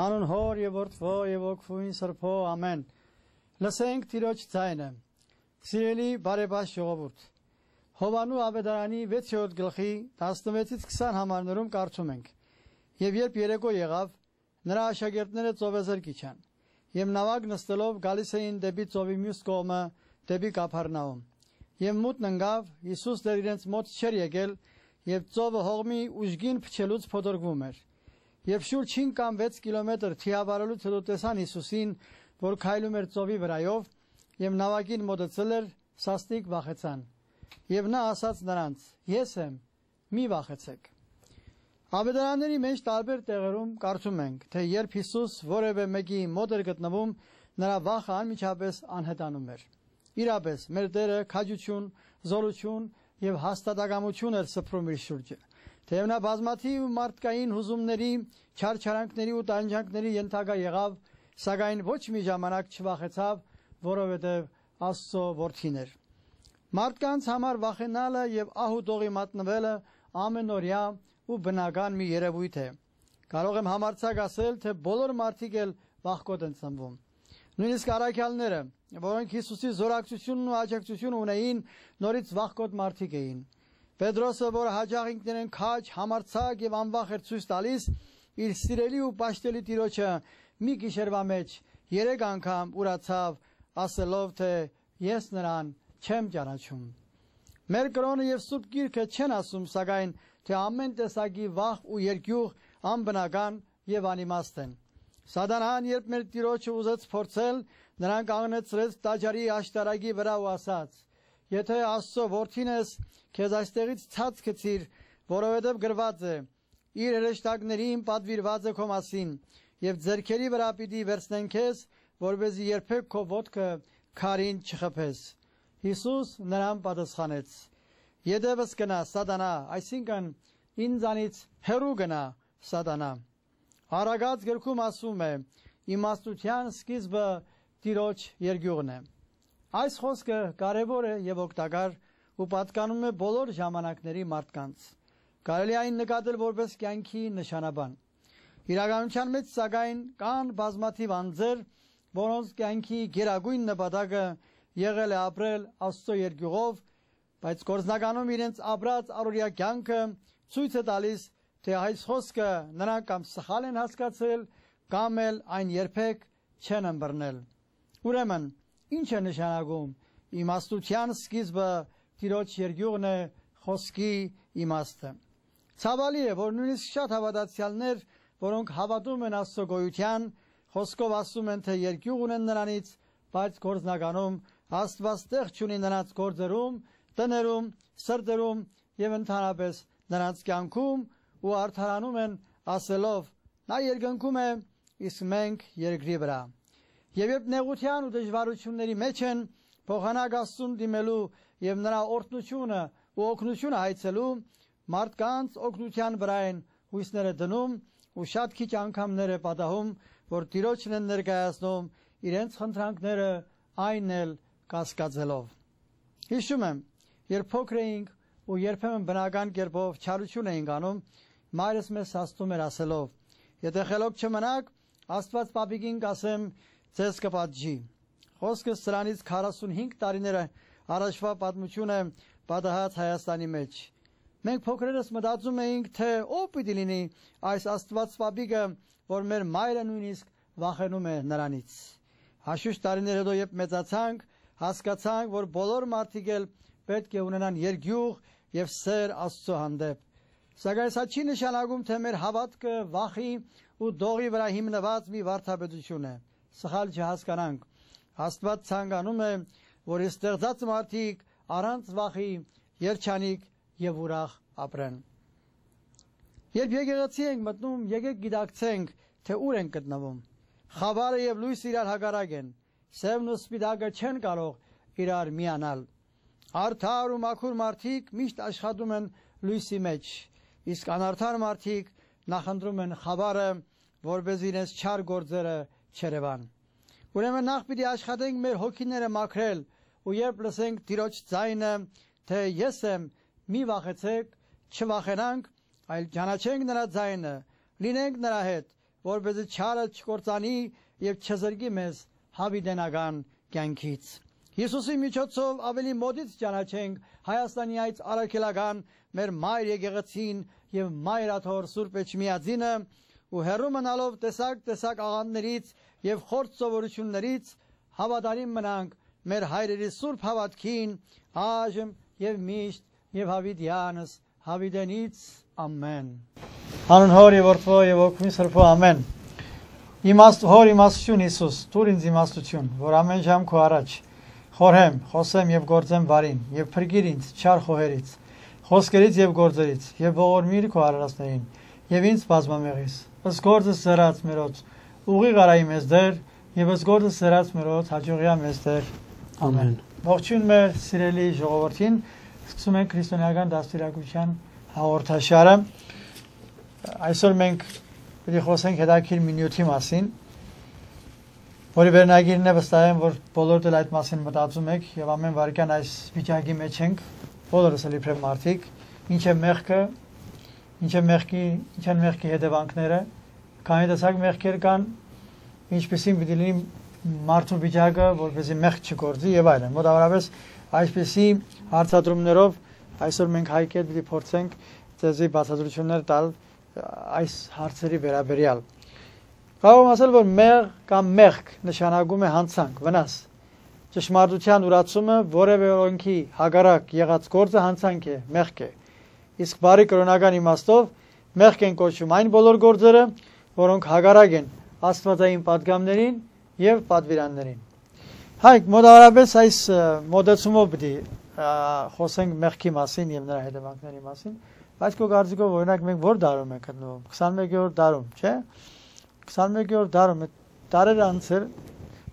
Հանուն Հոր եւ Որդվո եւ Ոգուին Սրբո ամեն։ Լսենք Տիրոջ ձայնը։ Սիրելի բարեբաց ժողովուրդ, Հովանու ավետարանի 6-րդ գլխի 16-ից 20 համարներում կարդում ենք. Եվ երբ երեկո եղավ, նրա աշակերտները ծովեզր կիչան, եւ նավակ նստելով գալիս էին դեպի ծովի մյուս կողմը, դեպի Կափառնաում։ Եվ մութն ընկավ, Հիսուս դեռ իրենց մոտ չէր եկել, եւ ծովը հողմի ուժգին փչելուց փոթորկվում էր։ Եվ շուրջ 5 կամ 6 կիլոմետր թիավարելուց հետո տեսան Հիսուսին, որ քայլում էր ծովի վրայով, եւ նավակին մոտեցել էր, սաստիկ վախեցան։ Եվ նա ասաց նրանց. Ես եմ, մի վախեցեք։ Ավետարանների մեջ տարբեր տեղերում կարդում ենք, թե երբ Հիսուս որևէ մեկի մոտ էր գտնվում, նրա վախը անմիջապես անհետանում էր։ Իրապես, մեր Տերը քաջություն, զորություն եւ հաստատակամություն էր սփռում իր շուրջը։ Թեև նա բազմաթիվ մարդկային հուզումների, չարչարանքների ու տանջանքների ենթակա եղավ, սակայն ոչ մի ժամանակ չվախեցավ, որովհետև Աստծո որդին էր։ Մարդկանց համար վախենալը եւ ահուտողի մատնվելը ամենօրյա ու բնական մի երևույթ է։ Կարող եմ համարձակ ասել, թե բոլոր մարդիկ էլ վախկոտ են ծնվում։ Նույնիսկ առաքյալները, որոնք Հիսուսի զորակցությունն ու աջակցությունը ունեին, նորից վախկոտ մարդիկ էին։ Պետրոսը, որը հաճախ ինքներեն քաջ, համարձակ եւ անվախ էր ցույց տալիս, իր սիրելի ու պաշտելի Տիրոջը մի գիշերվա մեջ 3 անգամ ուրացավ, ասելով, թե ես նրան չեմ ճանաչում։ Մեր կրոնը եւ Սուրբ Գիրքը չեն ասում, սակայն թե ամեն տեսակի վախ ու երկյուղ անբնական եւ անիմաստ են։ Սատանան, երբ մեր Տիրոջը ուզեց փորձել, նրան կանգնեցրեց տաճարի աշտարակի վրա ու ասաց. Եթե Աստծո որդին ես, քեզ այստեղից ցած գցիր, որովհետև գրված է. իր հրեշտակներին պատվիրված է քո մասին, եւ ձեռքերի վրա պիտի վերցնեն քեզ, որպեսզի երբեք քո ոտքը քարին չխփես։ Հիսուս նրան պատասխանեց. Ետևս գնա, Սատանա, այսինքն ինձանից հեռու գնա, Սատանա։ Արագած գրքում ասում է. իմաստության սկիզբը Տիրոջ երկյուղն է։ Այս խոսքը կարևոր է եւ օգտակար ու պատկանում է բոլոր ժամանակների մարդկանց։ Կարելի այն նկատել որպես կյանքի նշանաբան։ Իրականության մեջ սակայն կան բազմաթիվ անձեր, որոնց կյանքի գերագույն նպատակը եղել է ապրել Աստծո երկյուղով, բայց գործնականում իրենց ապրած առօրյա կյանքը ցույց է տալիս, թե այս խոսքը նրանք կամ սխալ են հասկացել, կամ էլ այն երբեք չեն ըմբռնել։ Ուրեմն, ինչ է նշանակում իմաստության սկիզբը Տիրոջ երկյուղն է խոսքի իմաստը։ Ցավալի է, որ նույնիսկ շատ հավատացյալներ, որոնք հավատում են Աստծո գոյության, խոսքով ասում են, թե երկյուղ ունեն նրանից, բայց գործնականում Աստված տեղ չունի նրանց գործերում, տներում, սրտերում եւ ընդհանրապես նրանց կյանքում ու արդարանում են ասելով. նա երկնքում է, իսկ մենք երկրի վրա։ Եվ երբ նեղության ու դժվարությունների մեջ են, փոխանակ Աստծուն դիմելու եւ նրա օրհնությունը ու օգնությունը հայցելու, մարդկանց օգնության վրա են հույսները դնում ու շատ քիչ անգամներ է պատահում, որ Տիրոջն են ներկայացնում իրենց խնդրանքները այն էլ կասկածելով։ Հիշում եմ, երբ փոքր էինք ու երբեմն բնական կերպով չարություն էինք անում, մայրս մեզ հաստում էր ասելով. եթե խելոք չմնաք, Աստված պապիկին կասեմ, ձեզ կպատժի։ Խոսքը սրանից 45 տարիներ առաջվա պատմություն է պատահած Հայաստանի մեջ։ Մենք փոքրերս մտածում էինք, թե ով պիտի լինի այս Աստված պապիկը, որ մեր մայրը նույնիսկ վախենում է նրանից։ Հաշուշ տարիներ հետո, երբ մեծացանք, հասկացանք, որ բոլոր մարդիկ էլ պետք է ունենան երկյուղ եւ սեր Աստծո հանդեպ։ Սակայն սա չի նշանակում, թե մեր հավատքը վախի ու դողի վրա հիմնված մի վարդապետություն է։ Սխալ չհասկանանք։ Աստված ցանկանում է, որ ստեղծած մարդիկ առանց վախի երջանիկ եւ ուրախ ապրեն։ Երբ եկեղեցի ենք մտնում, եկեք գիտակցենք, թե ուր ենք գտնվում։ Խավարը եւ լույսը իրար հակառակ են։ Սևն ու սպիտակը չեն կարող իրար միանալ։ Արդար ու մաքուր մարդիկ միշտ աշխատում են լույսի մեջ, իսկ անարդար մարդիկ նախընտրում են խավարը, որպես իրենց չար գործերը չերևան։ Ուրեմն նախ պիտի աշխատենք մեր հոգիները մաքրել, ու երբ լսենք Տիրոջ ձայնը, թե ես եմ, մի վախեցեք, չվախենանք, այլ ճանաչենք նրա ձայնը, լինենք նրա հետ, որպեսզի չարը չկործանի եւ չզրկի մեզ հավիտենական կյանքից։ Հիսուսի միջոցով ավելի մոտից ճանաչենք Հայաստանի այդ առաքելական մեր մայր եկեղեցին եւ մայրաթոր Սուրբ Էջմիածինը ու հեռու մնալով տեսակ աղանդներից եւ խորտ սովորություններից հավատարիմ մնանք մեր հայրերի սուրբ հավատքին այժմ եւ միշտ եւ հավիտյանս հավիտենից ամեն։ Հանուն Հոր եւ Որդու եւ Հոգու Սրբո ամեն։ Հոր իմաստություն Հիսուս, դուր ինձ իմաստություն, որ ամեն ժամ քո առաջ խորհեմ, խոսեմ եւ գործեմ բարին եւ փրկիր ինձ չար խոհերից, խոսքերից եւ գործերից եւ ողորմիր քո արարածներին եւ ինձ բազմամեղից։ Ըստ գործս զրած մերոց ուղի գարայի մեզ դեր եւ ըստ գործս զրած մերոց հաջողիա մեզ դեր։ Ամեն։ Ողջույն մեր սիրելի ժողովրդին, սկսում ենք քրիստոնեական դաստիարակության հաղորդաշարը։ Այսօր մենք պետք է խոսենք հետաքրքիր մի նյութի մասին, որի վերնագիրն է վստահ եմ, որ բոլորդ էլ այդ մասին մտածում եք եւ ամեն վարքյան այս վիճակի մեջ ենք, բոլորս էլ իբրև մարդիկ, ինչ է մեղքը, ինչ են մեղքի հետևանքները, քանի տեսակ մեղքեր կան, ինչպեսին պիտի լինի մարդու վիճակը, որպեսզի մեղք չգործի եւ այլն։ Մոտավորապես այսպեսի հարցադրումներով այսօր մենք հայկետ պիտի փորձենք ձեզի բացատրություններ տալ այս հարցերի վերաբերյալ։ Կարող եմ ասել, որ մեղ կամ մեղք նշանակում է հանցանք, վնաս։ Ճշմարտության ուրացումը որևէ օրենքի հակառակ եղած գործը հանցանք է, մեղք է։ Իսկ բարի կրոնական իմաստով մեղք են կոչվում այն բոլոր գործերը, որոնք հակառակ են աստվածային պատգամներին եւ պատվիրաններին։ Հայք մոտավորապես այս մոդեցումով պիտի խոսենք մեղքի մասին եւ նրա հետևանքների մասին, բայց քո կարծիքով օրինակ մենք որ դարում ենք գտնվում, 21-րդ դարում, չէ՞։ 21-րդ դարում դարեր անցել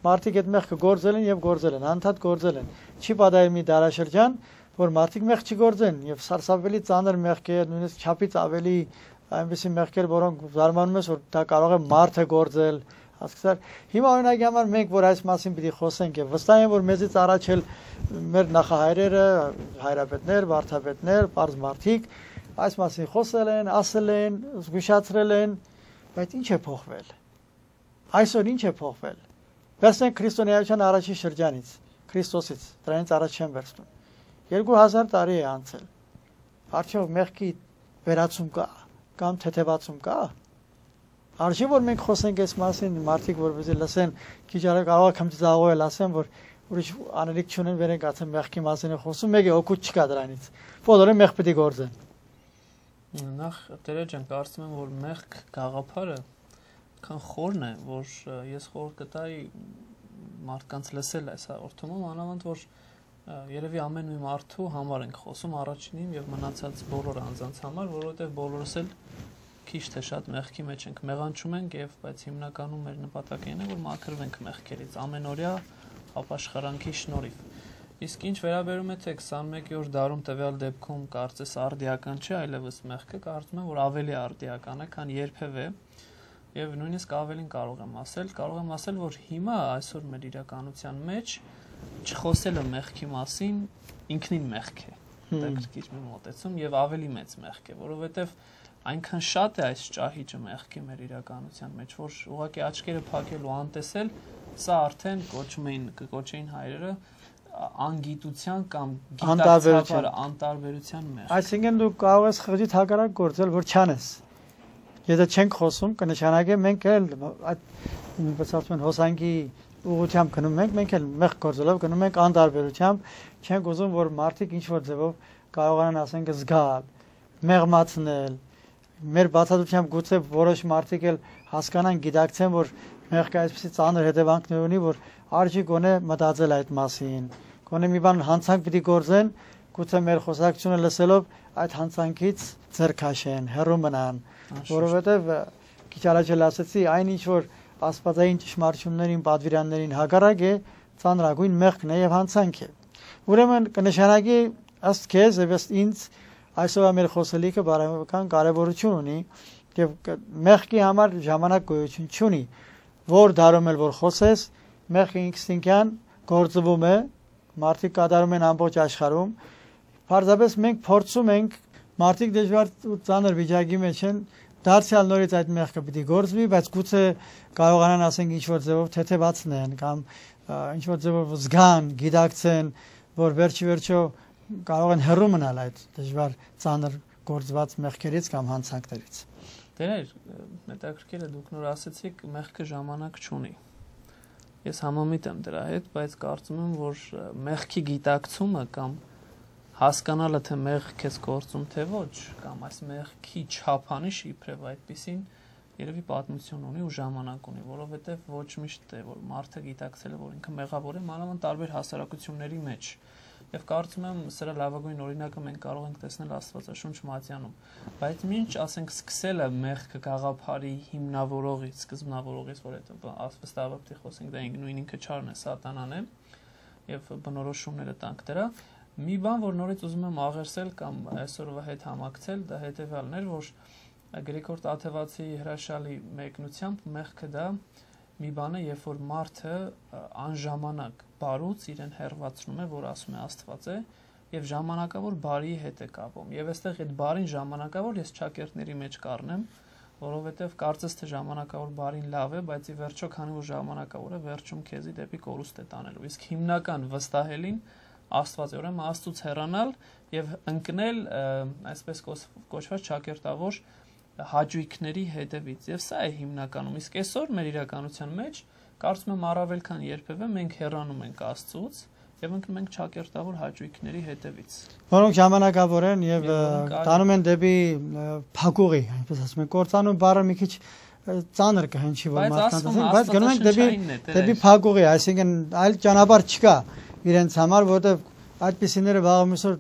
մարդիկ այդ մեղքը գործել են եւ գործել են, անդադ գործել են։ Չի պատահել մի դարաշրջան, որ մարդիկ մեղք չգործեն եւ սարսափելի ծանր մեղքեր, նույնիսկ չափից ավելի այնպիսի մեղքեր, որոնք զարմանում ես, որ դա կարող է մարդը գործել, հասկացար։ Հիմա օրինակի համար մենք որ այս մասին պիտի խոսենք եւ վստահ եմ, որ մեզից առաջ էլ մեր նախահայրերը, հայրապետներ, վարդապետներ, բարձ մարդիկ այս մասին խոսել են, ասել են, զգուշացրել են, բայց ինչ է փոխվել։ Այսօր ինչ է փոխվել։ Վերցնենք քրիստոնեայության առաջին շրջանից, Քրիստոսից, դրանից առաջ չեմ վերցնում։ 2000 տարի է անցել։ Արդյոք մեղքի վերացում կա կամ թեթևացում կա։ Արժի որ մենք խոսենք այս մասին, մարդիկ որպեսզի լսեն, քիչ արա կարող է քմծաղոել ասեն, որ ուրիշ անելիք չունեն, վերենք ասեն մեղքի մասին է խոսում, մեկը օգուտ չկա դրանից։ Բոլորը մեղ պետք է գործեն։ Նախ Տերը ջան, կարծում եմ, որ մեղք գաղափարը քան խորն է, որ ես խոր կտայի մարդկանց լսել այս հաղորդումը, մանավանդ որ երևի ամեն մի մարդու համար ենք խոսում առաջինին եւ մնացած բոլոր անձանց համար, որովհետեւ բոլորս էլ քիչ թե շատ մեղքի մեջ ենք, մեղանչում ենք եւ բայց հիմնականում մեր նպատակն է որ մաքրվենք մեղքերից ամենօրյա ապաշխարանքի շնորհիվ։ Իսկ ինչ վերաբերում է թե 21-րդ դարում տվյալ դեպքում կարծես արդիական չէ, այլևս մեղքը կարծում եմ որ ավելի արդիական է, քան երբևէ եւ նույնիսկ ավելին կարող եմ ասել, որ հիմա այսօր մեր իրականության մեջ չխոսելը մեղքի մասին ինքնին մեղք է։ Դա գրքիչ մի մոտեցում եւ ավելի մեծ մեղք է, որովհետեւ այնքան շատ է այս ճահիճը մեղքի մեր իրականության մեջ, որ ուղղակի աչքերը փակելու անտեսել, սա արդեն կոչեին հայրերը անգիտության կամ գիտակցաբար անտարբերության մեղք։ Այսինքն դու կարող ես խղճիդ հակառակ գործել, որ չանես։ Եթե չենք խոսում, կնշանակե մենք էլ այդ բացառություն հոսանքի ուղղությամբ գնում ենք, մենք էլ մեղք գործելով գնում ենք անտարբերությամբ, չենք ուզում, որ մարդիկ ինչ-որ ձևով կարողանան ասենք զգալ, մեղմացնել։ Մեր բացատրությամբ գուցե որոշ մարդիկ էլ հասկանան, գիտակցեն, որ մեղքը այսպեսի ծանր հետևանքներ ունի, որ արժի գոնե մտածել այդ մասին։ Գոնե մի բան հանցանք պիտի գործեն, գուցե մեր խոսակցությունը լսելով այդ հանցանքից ձեռք քաշեն, հեռու մնան, որովհետև քիչ առաջ էլ ասացի, այն ինչ որ աստվածային ճշմարտություններին, պատվիրաններին հակառակ է, ծանրագույն մեղքն է եւ հանցանք է։ Ուրեմն կնշանակի ըստ քեզ եւ ըստ ինձ այսօր մեր խոսելիքը բարոյական կարևորություն ունի եւ մեղքի համար ժամանակ գոյություն չունի, որ դարում էլ որ խոսես, մեղքը ինքնին գործվում է, մարդիկ կատարում են ամբողջ աշխարհում, պարզապես մենք փորձում ենք, մարդիկ դժվար ու ծանր վիճակի մեջ են, դարձյալ նորից այդ մեղքը պիտի գործվի, բայց գուցե կարողանան ասենք ինչ-որ ձևով թեթևացնեն կամ ինչ-որ ձևով զգան, գիտակցեն, որ վերջիվերջո կարող են հեռու մնալ այդ դժվար ծանր գործված մեղքերից կամ հանցանքներից։ Տեր, հետաքրքիր է, դուք նոր ասեցիք, մեղքը ժամանակ չունի։ Ես համամիտ եմ դրա հետ, բայց կարծում եմ, որ մեղքի գիտակցումը կամ հասկանալը, թե մեղք քեզ գործում թե ոչ, կամ այս մեղքի չափանիշը իբրև այդպիսին երևի պատմություն ունի ու ժամանակ ունի, որովհետև ոչ միշտ է, որ մարդը գիտակցել է, որ ինքը մեղավոր է, մանավանդ տարբեր հասարակությունների մեջ։ Եվ կարծում եմ, սրա լավագույն օրինակը մենք կարող ենք տեսնել Աստվածաշունչ Մատթեանում։ Բայց մինչ, ասենք, սկսել է մեղքը գաղափարի հիմնավորողից, սկզբնավորողից, որ այդ վստահաբար պիտի խոսենք, դա նույն ինքը չարն է, սատանան է, եւ բնորոշումները տանք դրա։ Մի բան, որ նորից ուզում եմ աղերսել կամ այսօրվա հետ համակցել, դա հետեւյալն էր, որ Գրիգոր Տաթևացի հրաշալի մեկնությամբ մեղքը դա մի բան է, երբ որ մարդը անժամանակ բարուց իրեն հեռացնում է, որ ասում է Աստված է, եւ ժամանակավոր բարիի հետ է կապում։ Եվ այստեղ այդ բարին ժամանակավոր ես ճակերտների մեջ կառնեմ, որովհետեւ կարծես թե ժամանակավոր բարին լավ է, բայց ի վերջո քանի որ ժամանակավոր է, վերջում քեզի դեպի կորուստ է տանելու։ Իսկ հիմնական վստահելին Աստված է, ուրեմն Աստծուց հեռանալ եւ ընկնել այսպես կոչված ճակերտավոր հաճույքների հետևից, եւ սա է հիմնականում։ Իսկ այսօր մեր իրականության մեջ կարծում եմ առավել քան երբևէ մենք հեռանում ենք Աստծուց եւ ընկնում ենք ճակերտավոր հաճույքների հետևից, որոնք ժամանակավոր են եւ տանում են դեպի փակուղի, այնպես ասում են, կործանում բառը մի քիչ ծանր կհնչի, որ մարդկանց ասենք, բայց գնում ենք դեպի փակուղի, այսինքն այլ ճանապարհ չկա իրենց համար, որտեղ այդպիսիները վաղամիսօր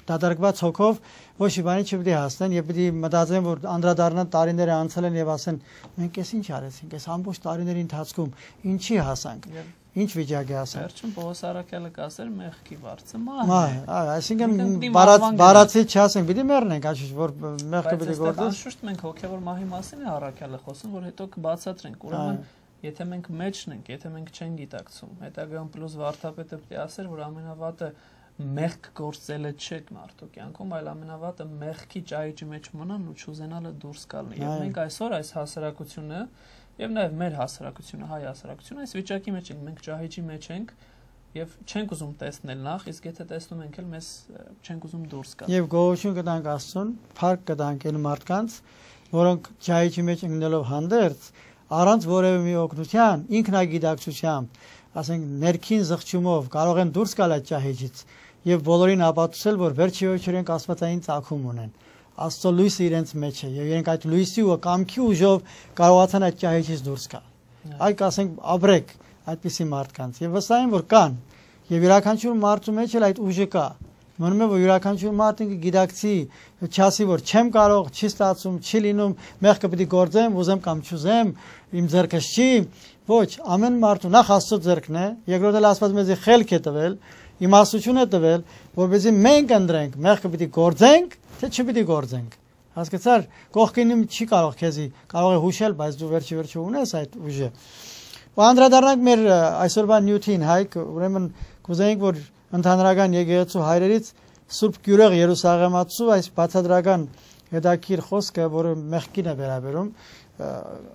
դադարկված հոգով ոչ մի բանի չպետք է հասնեն եւ պետք է մտածեն, որ անդրադառնան տարիները անցել են եւ ասեն մենք էս ինչ արեցինք, այս ամբողջ տարիների ընթացքում ինչի հասանք, ինչ վիճակի հասանք։ Վերջում Պողոս Արաքյալը կասեր մեղքի վարձը մահ է։ Այսինքն բառացի չասենք, պետք է մեռնենք, այլ որ մեղքը պետք է գործի։ Անշուշտ մենք հոգեվոր մահի մասին է Արաքյալը խոսում, որ հետո կբացատրենք։ Ուրեմն եթե մենք մեջն ենք, եթե մենք չենք գիտակցում, հետագայում պլյուս վարդապետը պետք է ասեր, որ ամենավատը մեղք գործելը չէ մարդու կյանքում, այլ ամենավատը մեղքի ճահիճի մեջ մնալն ու չուզենալը դուրս գալն է։ Եվ մենք այսօր այս հասարակությունը եւ նաեւ մեր հասարակությունը, հայ հասարակությունը այս վիճակի մեջ ենք, մենք ճահիճի մեջ ենք եւ չենք ուզում տեսնել նախ, իսկ եթե տեսնում ենք էլ մեզ չենք ուզում դուրս գալ։ Եվ գոհություն կտանք Աստծուն, փառք կտանք այն մարդկանց, որոնք ճահիճի մեջ ընկնելով հանդերձ առանց որևէ մի օգնության, ինքնագիտակցությամբ, ասենք ներքին զղջումով կարող են դուրս գալ այդ ճահիճից եւ բոլորին ապացուցել, որ վերջի իրենք աստվածային ծագում ունեն։ Աստծո լույսը իրենց մեջ է եւ իրենք այդ լույսի ու կամքի ուժով կարողացան այդ ճահիճից դուրս գալ։ Այ ասենք ապրեք այդպիսի մարդկանց եւ վստահ եմ, որ կան եւ յուրաքանչյուր մարդու մեջ էլ այդ ուժը կա։ Մնում է, որ յուրաքանչյուր մարդը գիտակցի, չասի, որ չեմ կարող, չի ստացվում, չի լինում, մեղքը պետք է գործեմ, ուզեմ կամ չուզեմ, իմ ձեռքս չի։ Ոչ, ամեն մարդու նախ Աստծո ձեռքն է, երկրորդ էլ Աստված մեզ խելք է տվել, իմաստություն է տվել, որպեսզի մենք ընտրենք, մեղքը պետք է գործենք, թե չպետք է գործենք։ Հասկացար, կողքինը չի կարող քեզի, կարող է հուշել, բայց դու վերջի ունես այդ ուժը։ Ու անդրադառնանք մեր այսօրվա նյութին, Հայկ, ուրեմն կուզեինք, որ ընդհանրական եկեղեցու հայրերից Սուրբ Գյուրեղ Երուսաղեմացու այս բացատրական հետաքրքիր խոսքը, որը մեղքին է վերաբերում,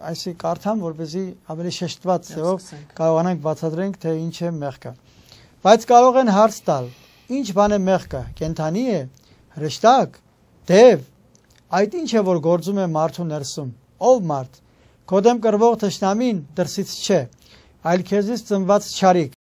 այսի կարդամ, որպեսզի ավելի շեշտված ձևով կարողանանք բացատրենք, թե ինչ է մեղքը։ Բայց կարող են հարց տալ, ինչ բան է մեղքը, կենդանի է, հրեշտակ, դև, այդ ինչ է, որ գործում է մարդու ներսում, ով մարդ, քո դեմ կռվող թշնամին դրսից չէ, այլ քեզից ծնված չարիք,